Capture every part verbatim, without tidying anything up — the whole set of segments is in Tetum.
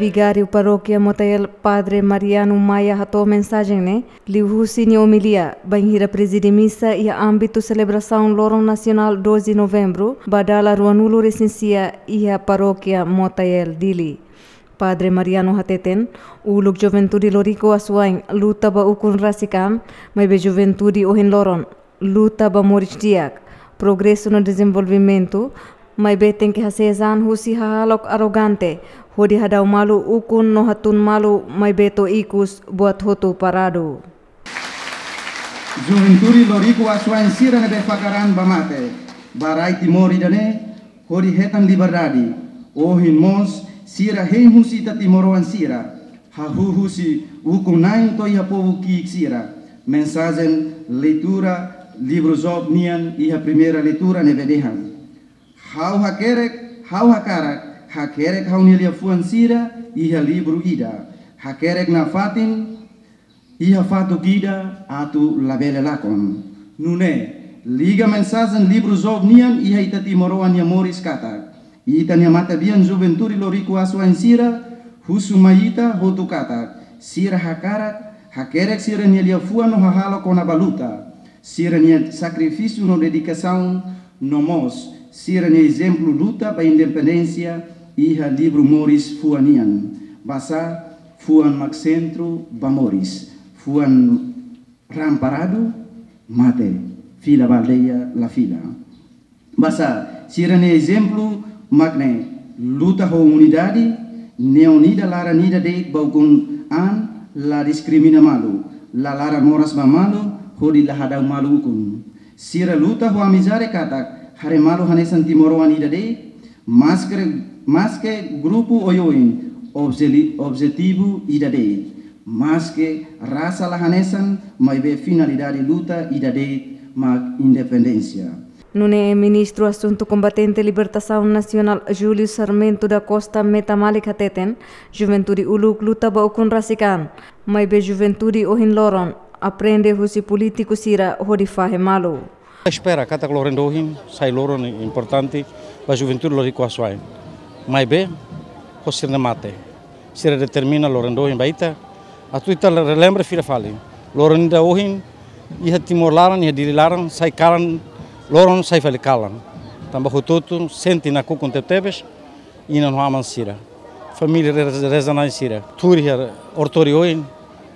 Vigáriu Parókia Motael, Padre Mariano Maia, hato'o mensajen ne'e liuhusi nia omilia bainhira prezide misa iha ámbitu selebrasaun Loron Nasionál doze Novembru ba dala ruanulu-resin-sia iha Parókia Motael, Dili. Padre Mariano hateten, uluk Juventude Loriku Asuwain luta ba ukun rasik an, maibé juventude ohin loron luta ba moris di'ak, progresu no dezenvolvimentu, maibé tenke hasezan husi hahalok arrogante, hodi hadau malu ukun no hatun malu, maibé to'o ikus buat hotu paradu. Juventude Loriku Asuwain sira ne'ebé fakar an ba mate, ba rai Timor ida-ne'e, hodi hetan liberdade. Ohin mós sira hein husi ita timoroan sira, hahú husi ukun-na'in to'o iha povu ki'ik sira. Mensajen leitura livru Job nian iha primeira leitura ne'ebé dehan: Ha'u hakerek, ha'u hakarak hakerek ha'u-nia liafuan sira iha livru ida, hakerek nafatin iha fatuk ida atu labele lakon. Nune'e, liga mensajen livru Job nian iha ita timoroan nia moris katak, ita-nia matebian Juventude Loriku Asuwain sira husu mai ita hotu katak, sira hakarak hakerek sira-nia liafuan no hahalok kona-ba luta, sira-nia sakrifísiu no dedikasaun, no mós sira-nia ezemplu luta ba independénsia iha livru moris fuan nian. Basá fuan mak sentru ba moris, fuan raan paradu, mate, fila ba aldeia, la fila. Basá sira-nia ezemplu mak ne'e: luta ho unidade, neon ida laran ida de'it ba ukun an, la diskrimina malu, la laran moras ba malu, hodi la hadau malu ukun. Sira luta ho amizade katak haree malu hanesan timoroan ida de'it, maske, maske grupu oioin, obje-, objetivu ida de'it, maske rasa la hanesan, maibé finalidade luta ida de'it mak independénsia. Nune'e Ministru Asuntu Kombatente Libertasaun Nasionál Júlio Sarmento da Costa Metamalik hateten, juventude uluk luta ba ukun rasik an, maibé juventude ohin loron aprende husi polítiku sira hodi fahe malu. Espera katak loron ida ohin sai loron importante ba Juventude Loriku Asuwain. Maibé ho sira-nia mate, sira determina loron ida ohin ba ita, atu ita relembra fila fali. Loron ida ohin iha Timor laran, iha Dili laran, sai kalan, loron sai fali kalan. Tanba hotu-hotu sente nakukun tebetebes, inan ho aman sira, família re-, reza-na'in sira, tuur iha oratóriu oin,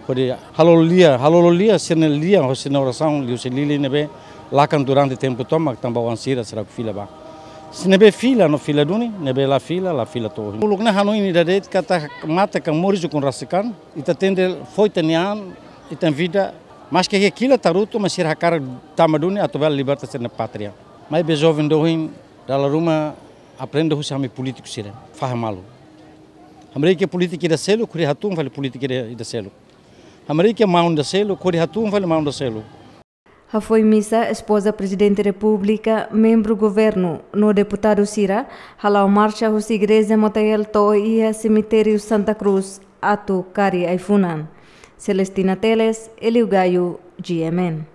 hodi halo lia, halo lia sira-nia lian ho sira-nia orasaun liuhusi Dili ne'ebé lakan durante tempu tomak tanba oan sira seidauk fila ba. Se ne'ebé fila no fila duni, ne'ebé la fila, la fila to'o ohin. Uluk ne'e hanoin ida de'it katak mate ka moris ukun rasik an, ita tenke fó ita-nia an, ita-nia vida, maske iha kila tarutu, mas sira hakarak tama duni atu bele liberta sira-nia pátria. Maibé joven ida ohin dala ruma aprende husi ami polítiku sira, fahe malu. Hamriik iha polítika ida seluk, hodi hatún fali polítika ida, ida seluk. Hamriik iha maun ida seluk, hodi hatún fali maun ida seluk. Hafoin misa, espoza Prezidente Repúblika, membru governu no deputadu sira hala'o marxa husi Igreja Motael to'o iha Semitériu Santa Cruz atu kari ai-funan. Celestina Teles, Elio Gaio, G M N.